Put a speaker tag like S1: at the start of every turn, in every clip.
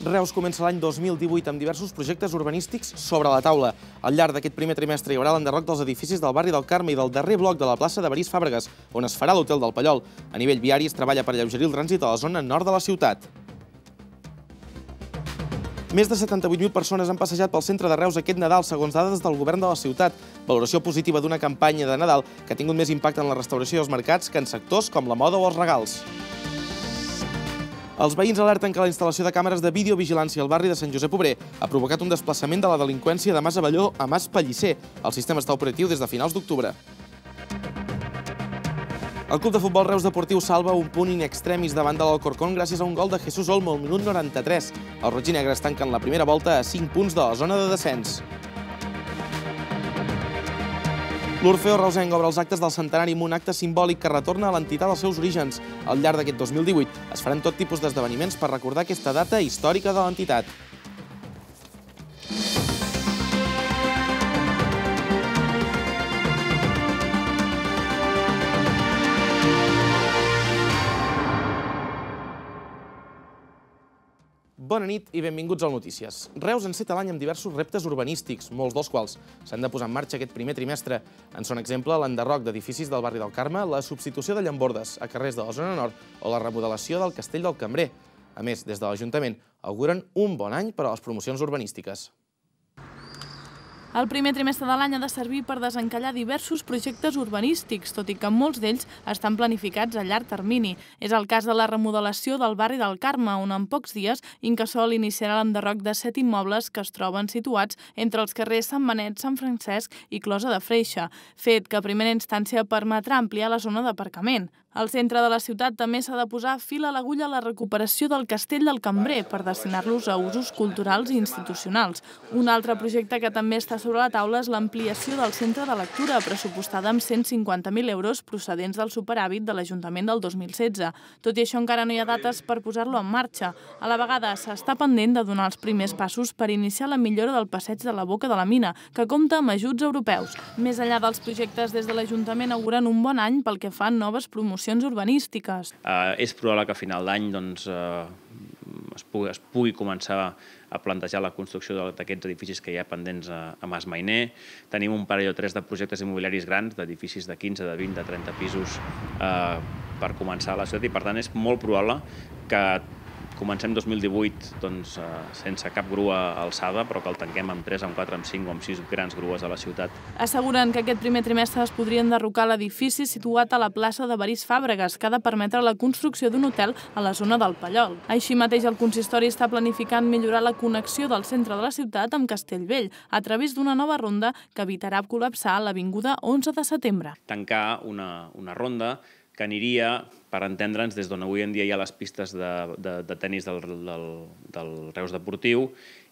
S1: Reus comença l'any 2018 amb diversos projectes urbanístics sobre la taula. Al llarg d'aquest primer trimestre hi haurà l'enderroc dels edificis del barri del Carme i del darrer bloc de la plaça de Barís Fàbregas, on es farà l'Hotel del Pallol. A nivell viari es treballa per alleugerir el trànsit a la zona nord de la ciutat. Més de 78.000 persones han passejat pel centre de Reus aquest Nadal, segons dades del govern de la ciutat. Valoració positiva d'una campanya de Nadal que ha tingut més impacte en la restauració dels mercats que en sectors com la moda o els regals. Els veïns alerten que la instal·lació de càmeres de videovigilància al barri de Sant Josep Obrer ha provocat un desplaçament de la delinqüència de Mas Abelló a Mas Pellicer. El sistema està operatiu des de finals d'octubre. El club de futbol Reus Deportiu salva un punt in extremis davant de l'Alcorcón gràcies a un gol de Jesús Olmo al minut 93. Els rojinegres tanquen la primera volta a 5 punts de la zona de descens. L'Orfeó reusenc obre els actes del centenari amb un acte simbòlic que retorna a l'entitat als seus orígens. Al llarg d'aquest 2018 es faran tot tipus d'esdeveniments per recordar aquesta data històrica de l'entitat. Bona nit i benvinguts al Notícies. Reus enceta l'any amb diversos reptes urbanístics, molts dels quals s'han de posar en marxa aquest primer trimestre. En són exemple l'enderroc d'edificis del barri del Carme, la substitució de llambordes a carrers de la zona nord o la remodelació del Castell del Cambrer. A més, des de l'Ajuntament auguren un bon any per a les promocions urbanístiques.
S2: El primer trimestre de l'any ha de servir per desencallar diversos projectes urbanístics, tot i que molts d'ells estan planificats a llarg termini. És el cas de la remodelació del barri del Carme, on en pocs dies Incasòl iniciarà l'enderroc de 7 immobles que es troben situats entre els carrers Sant Benet, Sant Francesc i Closa de Freixe, fet que a primera instància permetrà ampliar la zona d'aparcament. Al centre de la ciutat també s'ha de posar fil a l'agulla a la recuperació del Castell del Cambrer per destinar-los a usos culturals i institucionals. Un altre projecte que també està sobre la taula és l'ampliació del centre de lectura, pressupostada amb 150.000 euros procedents del superàvit de l'Ajuntament del 2016. Tot i això, encara no hi ha dates per posar-lo en marxa. A la vegada, s'està pendent de donar els primers passos per iniciar la millora del passeig de la Boca de la Mina, que compta amb ajuts europeus. Més enllà dels projectes, des de l'Ajuntament auguren un bon any pel que fa a noves promocions urbanístiques.
S3: És probable que a final d'any es pugui començar a plantejar la construcció d'aquests edificis que hi ha pendents a Mas Mainer. Tenim un parell o tres de projectes immobiliaris grans, d'edificis de 15, de 20, de 30 pisos per començar a la ciutat i, per tant, és molt probable que comencem 2018 sense cap grua alçada, però que el tanquem amb 3, amb 4, amb 5 o amb 6 grans grues a la ciutat.
S2: Asseguren que aquest primer trimestre es podria enderrocar l'edifici situat a la plaça de Barís Fàbregas, que ha de permetre la construcció d'un hotel a la zona del Pallol. Així mateix, el consistori està planificant millorar la connexió del centre de la ciutat amb Castellvell a través d'una nova ronda que evitarà col·lapsar l'avinguda 11 de setembre.
S3: Tancar una ronda que aniria, per entendre'ns, des d'on avui en dia hi ha les pistes de tenis del Reus Deportiu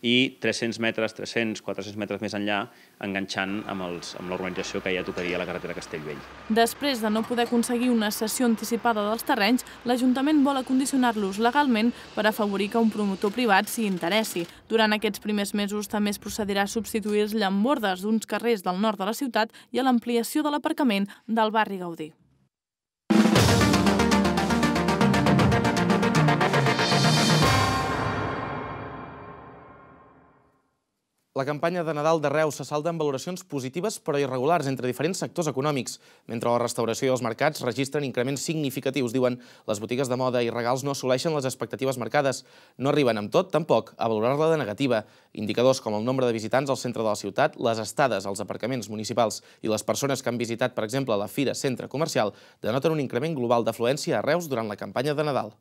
S3: i 300 metres, 300, 400 metres més enllà, enganxant amb l'urbanització que ja tocaria la carretera Castellvell.
S2: Després de no poder aconseguir una cessió anticipada dels terrenys, l'Ajuntament vol acondicionar-los legalment per afavorir que un promotor privat s'hi interessi. Durant aquests primers mesos també es procedirà a substituir els llambordes d'uns carrers del nord de la ciutat i a l'ampliació de l'aparcament del barri Gaudí.
S1: La campanya de Nadal de Reus se salda amb valoracions positives però irregulars entre diferents sectors econòmics. Mentre la restauració i els mercats registren increments significatius, diuen, les botigues de moda i regals no assoleixen les expectatives marcades. No arriben amb tot, tampoc, a valorar-la de negativa. Indicadors com el nombre de visitants al centre de la ciutat, les estades als aparcaments municipals i les persones que han visitat, per exemple, la Fira Centre Comercial, denoten un increment global d'afluència a Reus durant la campanya de Nadal.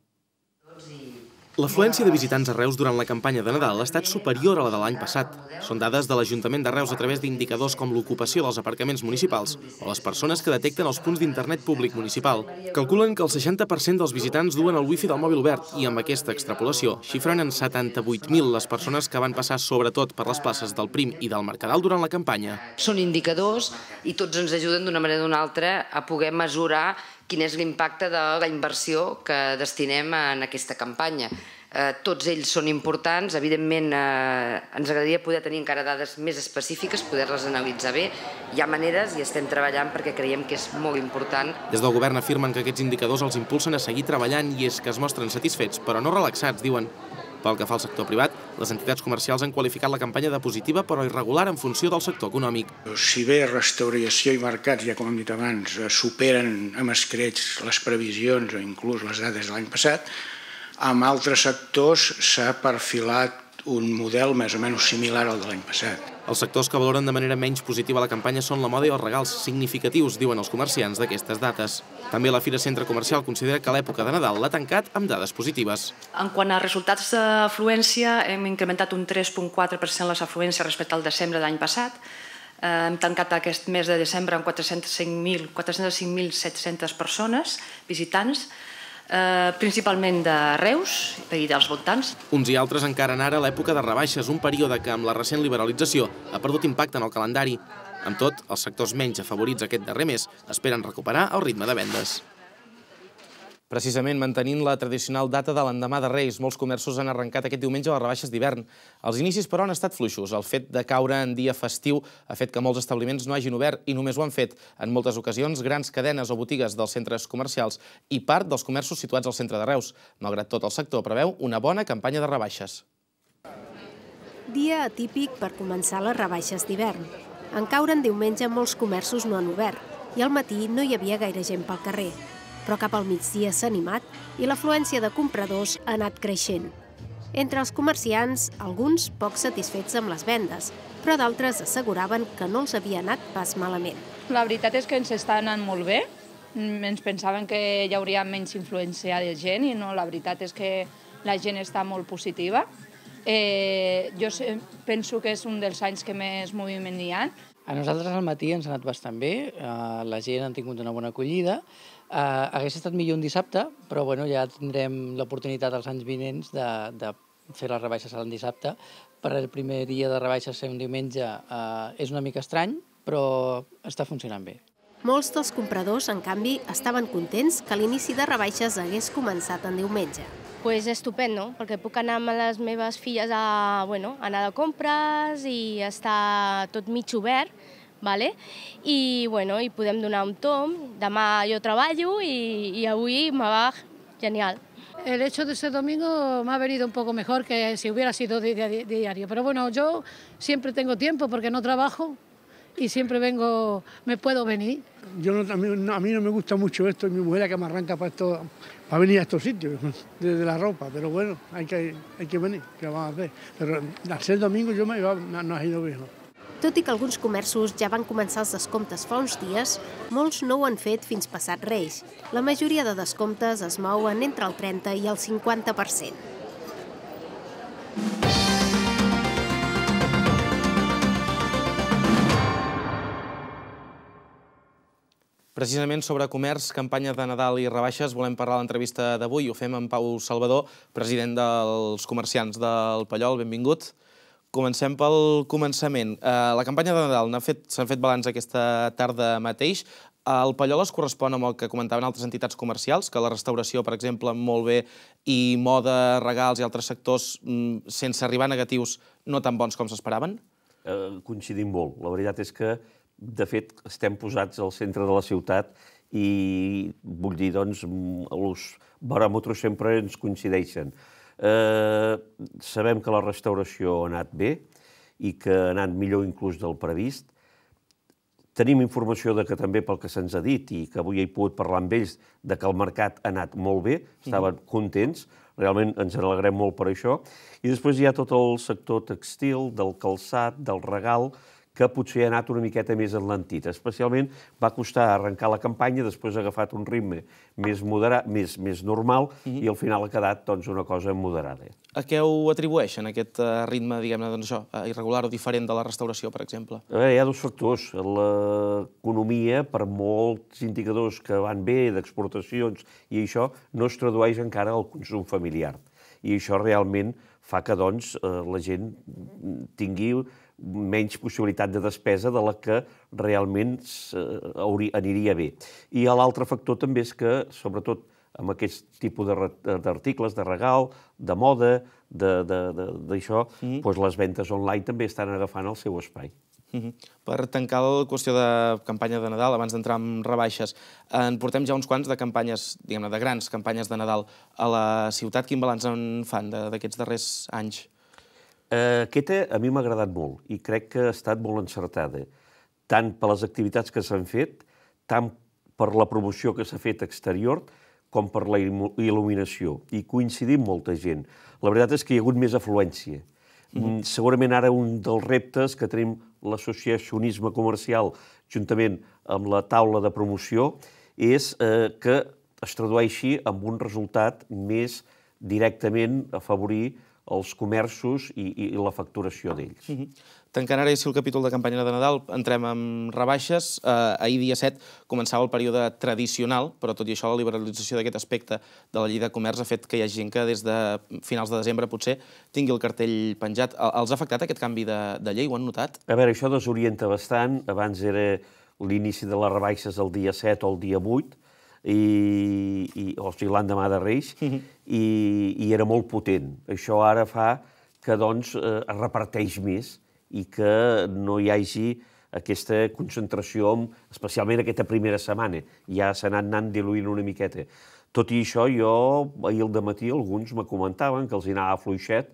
S1: L'afluència de visitants a Reus durant la campanya de Nadal ha estat superior a la de l'any passat. Són dades de l'Ajuntament de Reus a través d'indicadors com l'ocupació dels aparcaments municipals o les persones que detecten els punts d'internet públic municipal. Calculen que el 60% dels visitants duen el wifi del mòbil obert i amb aquesta extrapolació xifren en 78.000 les persones que van passar sobretot per les places del Prim i del Mercadal durant la campanya.
S4: Són indicadors i tots ens ajuden d'una manera o d'una altra a poder mesurar quin és l'impacte de la inversió que destinem en aquesta campanya. Tots ells són importants, evidentment ens agradaria poder tenir encara dades més específiques, poder-les analitzar bé. Hi ha maneres i estem treballant perquè creiem que és molt important.
S1: Des del govern afirmen que aquests indicadors els impulsen a seguir treballant i és que es mostren satisfets, però no relaxats, diuen. Pel que fa al sector privat, les entitats comercials han qualificat la campanya de positiva però irregular en funció del sector econòmic.
S5: Si bé restauració i mercats, ja com hem dit abans, superen amb escreix les previsions o inclús les dades de l'any passat, amb altres sectors s'ha perfilat un model més o menys similar al de l'any passat.
S1: Els sectors que valoren de manera menys positiva la campanya són la moda i els regals significatius, diuen els comerciants d'aquestes dates. També la Fira Centre Comercial considera que l'època de Nadal l'ha tancat amb dades positives.
S6: En quant a resultats d'afluència, hem incrementat un 3,4% les afluències respecte al desembre de l'any passat. Hem tancat aquest mes de desembre amb 405.700 persones visitants, principalment de Reus i dels voltants.
S1: Uns i altres encaren ara l'època de rebaixes, un període que amb la recent liberalització ha perdut impacte en el calendari. Amb tot, els sectors menys afavorits aquest darrer mes esperen recuperar el ritme de vendes. Precisament mantenint la tradicional data de l'endemà de Reis, molts comerços han arrencat aquest diumenge les rebaixes d'hivern. Els inicis, però, han estat fluixos. El fet de caure en dia festiu ha fet que molts establiments no hagin obert i només ho han fet, en moltes ocasions, grans cadenes o botigues dels centres comercials i part dels comerços situats al centre de Reus. Malgrat tot, el sector preveu una bona campanya de rebaixes.
S7: Dia atípic per començar les rebaixes d'hivern. En caure en diumenge molts comerços no han obert i al matí no hi havia gaire gent pel carrer. Però cap al migdia s'ha animat i l'afluència de compradors ha anat creixent. Entre els comerciants, alguns poc satisfets amb les vendes, però d'altres asseguraven que no els havia anat pas malament.
S8: La veritat és que ens està anant molt bé. Ens pensaven que hi hauria menys influència de gent i no, la veritat és que la gent està molt positiva. Jo penso que és un dels anys que més moviment hi ha.
S9: A nosaltres al matí ens ha anat bastant bé, la gent ha tingut una bona acollida. Hauria estat millor un dissabte, però bueno, ja tindrem l'oportunitat als anys vinents de fer les rebaixes l'any dissabte. Per el primer dia de rebaixes ser un diumenge és una mica estrany, però està funcionant bé.
S7: Molts dels compradors, en canvi, estaven contents que l'inici de rebaixes hagués començat en diumenge.
S10: Pues estupendo, perquè puc anar amb les meves filles a anar de compres i està tot mig obert, i podem donar un tomb. Demà jo treballo y avui me va genial.
S11: El hecho de ser domingo me ha venido un poco mejor que si hubiera sido diario. Pero bueno, yo siempre tengo tiempo porque no trabajo y siempre vengo, me puedo venir.
S12: A mí no me gusta mucho esto, mi mujer es la que me arranca para venir a estos sitios, desde la ropa, pero bueno, hay que venir, ¿qué vamos a hacer? Pero al ser domingo yo no ha ido bien.
S7: Tot i que alguns comerços ja van començar els descomptes fa uns dies, molts no ho han fet fins passat Reis. La majoria de descomptes es mouen entre el 30 i el 50%.
S1: Precisament sobre comerç, campanya de Nadal i rebaixes, volem parlar a l'entrevista d'avui. Ho fem amb Pau Salvador, president dels comerciants del Pallol. Benvingut. Comencem pel començament. La campanya de Nadal s'han fet balanç aquesta tarda mateix. El Pallol es correspon amb el que comentaven altres entitats comercials, que la restauració, per exemple, molt bé, i moda, regals i altres sectors, sense arribar a negatius, no tan bons com s'esperaven?
S13: Coincidim molt. La veritat és que, de fet, estem posats al centre de la ciutat i, vull dir, doncs, els baròmetres sempre ens coincideixen. Sabem que la restauració ha anat bé i que ha anat millor inclús del previst. Tenim informació que també pel que se'ns ha dit i que avui he pogut parlar amb ells de que el mercat ha anat molt bé, estaven contents, realment ens alegrem molt per això. I després hi ha tot el sector textil, del calçat, del regal, que potser ha anat una miqueta més enlentit. Especialment va costar arrencar la campanya, després ha agafat un ritme més moderat, més normal, i al final ha quedat una cosa moderada.
S1: A què ho atribueixen, aquest ritme, diguem-ne, irregular o diferent de la restauració, per exemple?
S13: Hi ha dos factors. L'economia, per molts indicadors que van bé, d'exportacions i això, no es tradueix encara al consum familiar. I això realment fa que la gent tingui menys possibilitat de despesa de la que realment aniria bé. I l'altre factor també és que, sobretot amb aquest tipus d'articles, de regal, de moda, d'això, les ventes online també estan agafant el seu espai.
S1: Per tancar la qüestió de campanya de Nadal, abans d'entrar en rebaixes, en portem ja uns quants de campanyes, diguem-ne, de grans campanyes de Nadal a la ciutat. Quin balanç en fan d'aquests darrers anys?
S13: Aquesta a mi m'ha agradat molt i crec que ha estat molt encertada, tant per les activitats que s'han fet, tant per la promoció que s'ha fet exterior, com per la il·luminació. I coincidim molta gent. La veritat és que hi ha hagut més afluència. Segurament ara un dels reptes que tenim l'associacionisme comercial juntament amb la taula de promoció és que es tradueixi en un resultat més directament afavorir els comerços i la facturació d'ells.
S1: Tancant ara el capítol de campanya de Nadal, entrem en rebaixes. Ahir, dia 7, començava el període tradicional, però tot i això la liberalització d'aquest aspecte de la llei de comerç ha fet que hi hagi gent que des de finals de desembre potser tingui el cartell penjat. Els ha afectat aquest canvi de llei? Ho han notat?
S13: A veure, això desorienta bastant. Abans era l'inici de les rebaixes el dia 7 o el dia 8, o sigui, l'endemà de Reis, i era molt potent. Això ara fa que doncs, es reparteix més i que no hi hagi aquesta concentració, especialment aquesta primera setmana. Ja s'ha anat diluint una miqueta. Tot i això, jo ahir al dematí alguns me comentaven que els hi anava fluixet,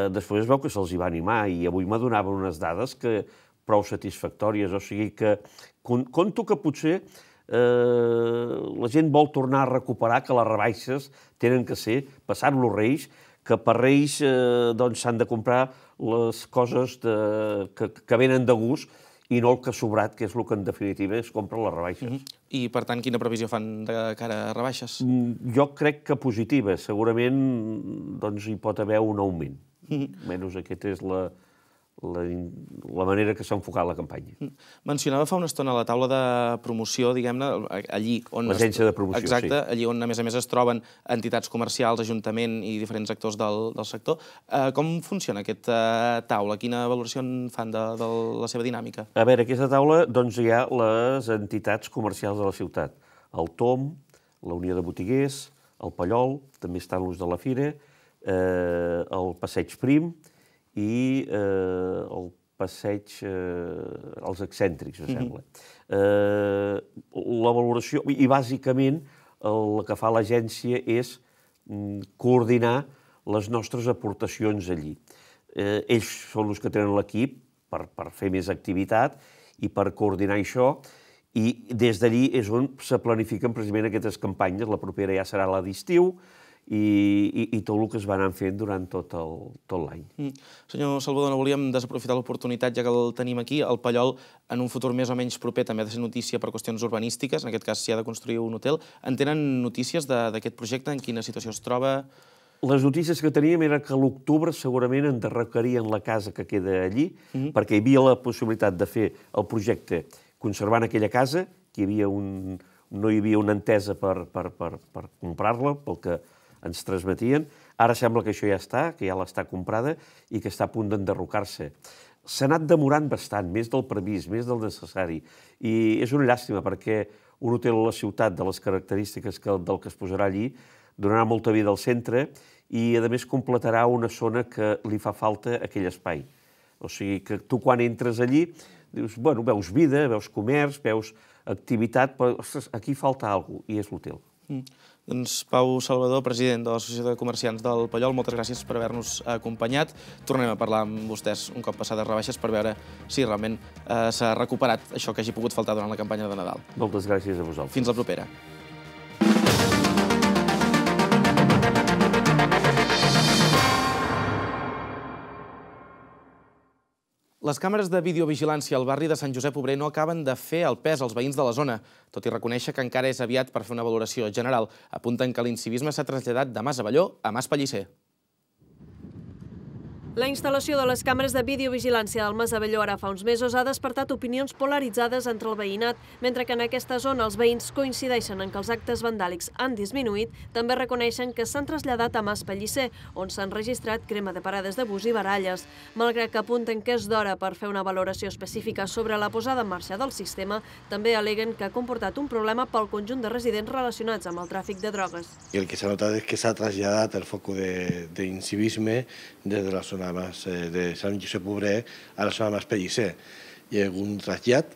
S13: després es veu que se'ls hi va animar i avui m'adonaven unes dades que prou satisfactòries. O sigui que conto que potser la gent vol tornar a recuperar que les rebaixes tenen que ser, passant-los Reis, que per Reis s'han de comprar les coses que venen de gust i no el que ha sobrat, que és el que en definitiva es compra les rebaixes.
S1: I per tant, quina previsió fan de cara a rebaixes?
S13: Jo crec que positiva. Segurament hi pot haver un augment. Menys aquesta és la manera que s'ha enfocat la campanya.
S1: Mencionava fa una estona la taula de promoció, diguem-ne, allí on...
S13: L'agència de promoció, sí.
S1: Exacte, allí on, a més es troben entitats comercials, ajuntament i diferents actors del sector. Com funciona aquesta taula? Quina valoració en fan de la seva dinàmica?
S13: A veure, aquesta taula, doncs hi ha les entitats comercials de la ciutat. El TOM, la Unió de Botiguers, el Pallol, també estan l'ús de la Fira, el Passeig Prim, i el passeig als excèntrics, em sembla. La valoració, i bàsicament el que fa l'agència és coordinar les nostres aportacions allí. Ells són els que tenen l'equip per fer més activitat i per coordinar això, i des d'allí és on se planifiquen precisament aquestes campanyes. La propera ja serà la d'estiu, i tot el que es va anar fent durant tot l'any.
S1: Senyor Salvador, no volíem desaprofitar l'oportunitat, ja que el tenim aquí. El Pallol, en un futur més o menys proper, també ha de ser notícia per qüestions urbanístiques, en aquest cas s'hi ha de construir un hotel. En tenen notícies d'aquest projecte? En quina situació es troba?
S13: Les notícies que teníem era que a l'octubre segurament enderrocarien la casa que queda allí, perquè hi havia la possibilitat de fer el projecte conservant aquella casa, que no hi havia una entesa per comprar-la, pel que ens transmetien. Ara sembla que això ja està, que ja l'està comprada i que està a punt d'enderrocar-se. S'ha anat demorant bastant, més del previst, més del necessari. I és una llàstima perquè un hotel a la ciutat de les característiques del que es posarà allí donarà molta vida al centre i, a més, completarà una zona que li fa falta aquell espai. O sigui que tu quan entres allí dius, bueno, veus vida, veus comerç, veus activitat, però ostres, aquí falta alguna cosa, i és l'hotel.
S1: Doncs Pau Salvador, president de l'Associació de Comerciants del Pallol, moltes gràcies per haver-nos acompanyat. Tornem a parlar amb vostès un cop passades rebaixes per veure si realment s'ha recuperat això que hagi pogut faltar durant la campanya de Nadal.
S13: Moltes gràcies a vosaltres.
S1: Fins la propera. Les càmeres de videovigilància al barri de Sant Josep Obrer no acaben de fer el pes als veïns de la zona, tot i reconèixer que encara és aviat per fer una valoració general. Apunten que l'incivisme s'ha traslladat de Mas Abelló a Mas Pellicer.
S14: La instal·lació de les càmeres de videovigilància del Mas Abelló ara fa uns mesos ha despertat opinions polaritzades entre el veïnat. Mentre que en aquesta zona els veïns coincideixen en que els actes vandàlics han disminuït, també reconeixen que s'han traslladat a Mas Pellicer, on s'han registrat crema de parades de bus i baralles. Malgrat que apunten que és d'hora per fer una valoració específica sobre la posada en marxa del sistema, també aleguen que ha comportat un problema pel conjunt de residents relacionats amb el tràfic de drogues.
S15: I el que s'ha notat és que s'ha traslladat el foc d'incivisme des de la zona de Sant Josep Obrer a la zona de Mas Pellicer. hi ha un trasllat,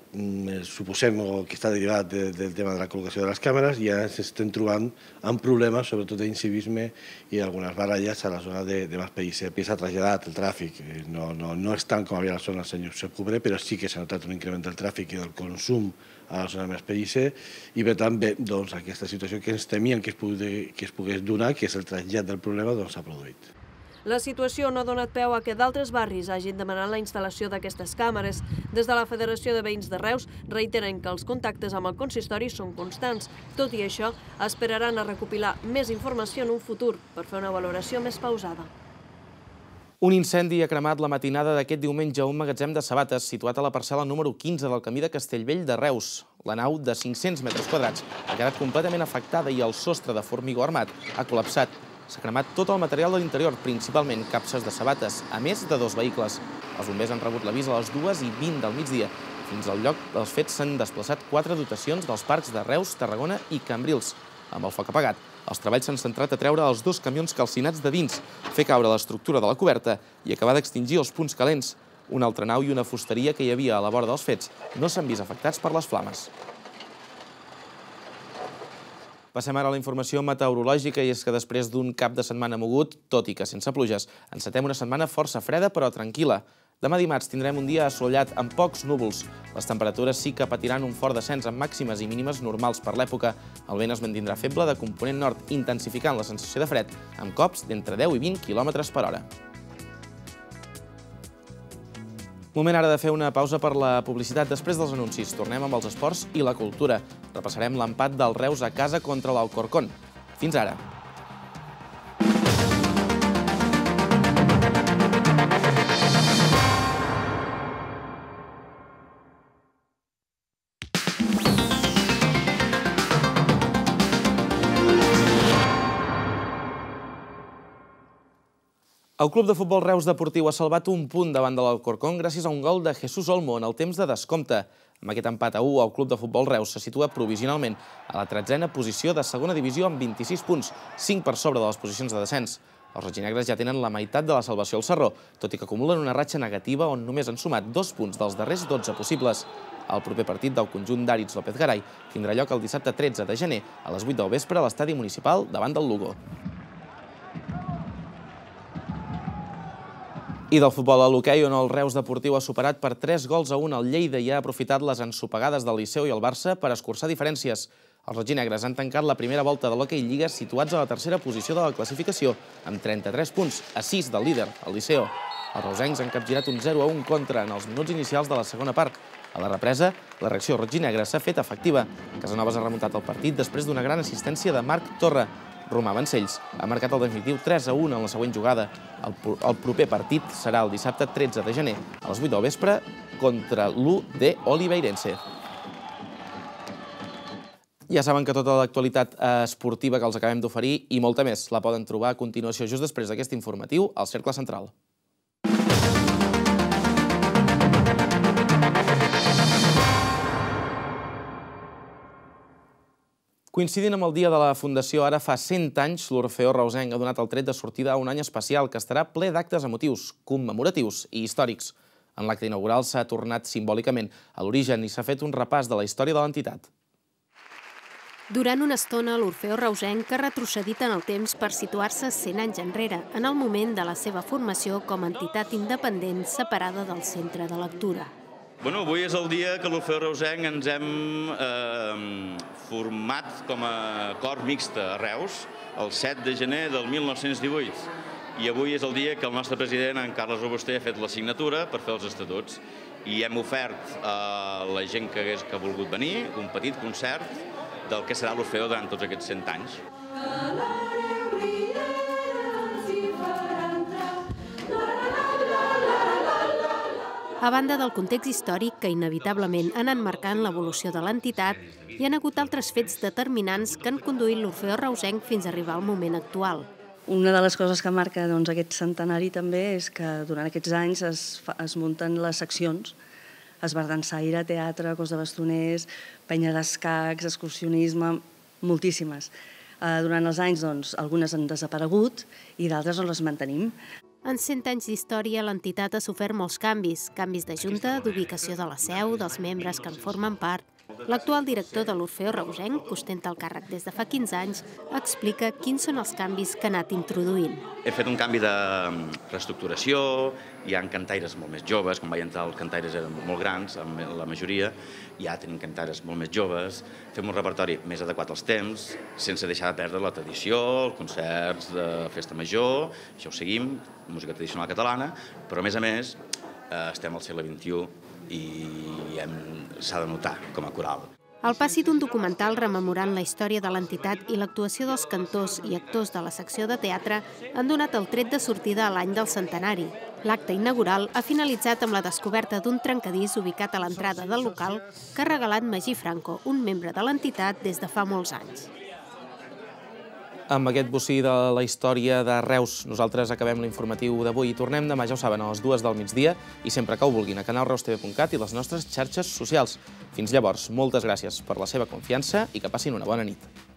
S15: suposem que està derivat del tema de la col·locació de les càmeres, i ja ens estem trobant amb problemes, sobretot d'incivisme i algunes baralles a la zona de Mas Pellicer. S'ha traslladat el tràfic, no és tant com havia a la zona del senyor Josep Cobrer, però sí que s'ha notat un increment del tràfic i del consum a la zona de Mas Pellicer, i per tant, bé, aquesta situació que ens temíem que es pogués donar, que és el trasllat del problema, s'ha produït.
S14: La situació no ha donat peu a que d'altres barris hagin demanat la instal·lació d'aquestes càmeres. Des de la Federació de Veïns de Reus reiteren que els contactes amb el consistori són constants. Tot i això, esperaran a recopilar més informació en un futur per fer una valoració més pausada.
S1: Un incendi ha cremat la matinada d'aquest diumenge a un magatzem de sabates situat a la parcel·la número 15 del camí de Castellvell de Reus. La nau, de 500 metres quadrats, ha quedat completament afectada i el sostre de formigó armat ha col·lapsat. S'ha cremat tot el material de l'interior, principalment capses de sabates, a més de 2 vehicles. Els bombers han rebut l'avís a les 2:20 del migdia. Fins al lloc dels fets s'han desplaçat 4 dotacions dels parcs de Reus, Tarragona i Cambrils. Amb el foc apagat, els treballs s'han centrat a treure els 2 camions calcinats de dins, fer caure l'estructura de la coberta i acabar d'extingir els punts calents. Una altra nau i una fusteria que hi havia a la vora dels fets no s'han vist afectats per les flames. Passem ara a la informació meteorològica, i és que després d'un cap de setmana mogut, tot i que sense pluges, encetem una setmana força freda però tranquil·la. Demà dimarts tindrem un dia assolellat amb pocs núvols. Les temperatures sí que patiran un fort descens amb màximes i mínimes normals per l'època. El vent es mantindrà feble de component nord, intensificant la sensació de fred, amb cops d'entre 10 i 20 km per hora. Moment ara de fer una pausa per la publicitat. Després dels anuncis, tornem amb els esports i la cultura. Repassarem l'empat del Reus a casa contra l'Alcorcón. Fins ara. El Club de Futbol Reus Deportiu ha salvat un punt davant de l'Alcorcón gràcies a un gol de Jesús Olmo en el temps de descompte. Amb aquest empat a 1, el Club de Futbol Reus se situa provisionalment a la 13a posició de segona divisió amb 26 punts, 5 per sobre de les posicions de descens. Els rojinegres ja tenen la meitat de la salvació al Sarró, tot i que acumulen una ratxa negativa on només han sumat 2 punts dels darrers 12 possibles. El proper partit del conjunt d'Àrits López Garay tindrà lloc el dissabte 13 de gener a les 8 del vespre a l'estadi municipal davant del Lugo. I del futbol a l'hoquei, on el Reus Deportiu ha superat per 3-1 el Lleida i ha aprofitat les ensopegades del Liceu i el Barça per escurçar diferències. Els rojinegres han tancat la primera volta de l'hoquei Lliga situats a la tercera posició de la classificació, amb 33 punts, a 6 del líder, el Liceo. Els reusencs han capgirat un 0-1 contra en els minuts inicials de la segona part. A la represa, la reacció rojinegra s'ha fet efectiva. Casanovas ha remuntat el partit després d'una gran assistència de Marc Torra. Romà Vancells ha marcat el definitiu 3-1 en la següent jugada. El proper partit serà el dissabte 13 de gener a les 8 del vespre contra l'UD Oliveirense. Ja saben que tota l'actualitat esportiva que els acabem d'oferir i molta més la poden trobar a continuació just després d'aquest informatiu al Cercle Central. Coincidint amb el dia de la Fundació, ara fa 100 anys, l'Orfeó reusenc ha donat el tret de sortida a un any especial que estarà ple d'actes emotius, commemoratius i històrics. En l'acte inaugural s'ha tornat simbòlicament a l'origen i s'ha fet un repàs de la història de l'entitat.
S7: Durant una estona, l'Orfeó reusenc ha retrocedit en el temps per situar-se 100 anys enrere, en el moment de la seva formació com a entitat independent separada del centre de lectura.
S16: Avui és el dia que l'Orfeó reusenc ens hem format com a cor mixta a Reus, el 7 de gener del 1918. I avui és el dia que el nostre president, en Carles Robuster, ha fet la signatura per fer els estatuts. I hem ofert a la gent que ha volgut venir un petit concert del que serà l'Orfeó durant tots aquests 100 anys.
S7: A banda del context històric que inevitablement han enmarcat l'evolució de l'entitat, hi ha hagut altres fets determinants que han conduït l'Orfeó reusenc fins a arribar al moment actual.
S17: Una de les coses que marca aquest centenari també és que durant aquests anys es munten les seccions. Esbardansaire, teatre, cos de bastoners, penya d'escacs, excursionisme, moltíssimes. Durant els anys algunes han desaparegut i d'altres les mantenim.
S7: En 100 anys d'història, l'entitat ha sofert molts canvis. Canvis de junta, d'ubicació de la seu, dels membres que en formen part. L'actual director de l'Orfeó reusenc, que ostenta el càrrec des de fa 15 anys, explica quins són els canvis que ha anat introduint.
S16: He fet un canvi de reestructuració, hi ha cantaires molt més joves, quan vaig entrar els cantaires eren molt grans, la majoria, ja tenim cantaires molt més joves, fem un repertori més adequat als temps, sense deixar de perdre la tradició, els concerts de festa major, això ho seguim, música tradicional catalana, però a més estem al segle XXI i s'ha de notar com a coral.
S7: El passi d'un documental rememorant la història de l'entitat i l'actuació dels cantors i actors de la secció de teatre han donat el tret de sortida a l'any del centenari. L'acte inaugural ha finalitzat amb la descoberta d'un trencadís ubicat a l'entrada del local que ha regalat Magí Franco, un membre de l'entitat des de fa molts anys.
S1: Amb aquest bocí de la història de Reus, nosaltres acabem l'informatiu d'avui i tornem demà, ja ho saben, a les 2 del migdia i sempre que ho vulguin a canalreustv.cat i les nostres xarxes socials. Fins llavors, moltes gràcies per la seva confiança i que passin una bona nit.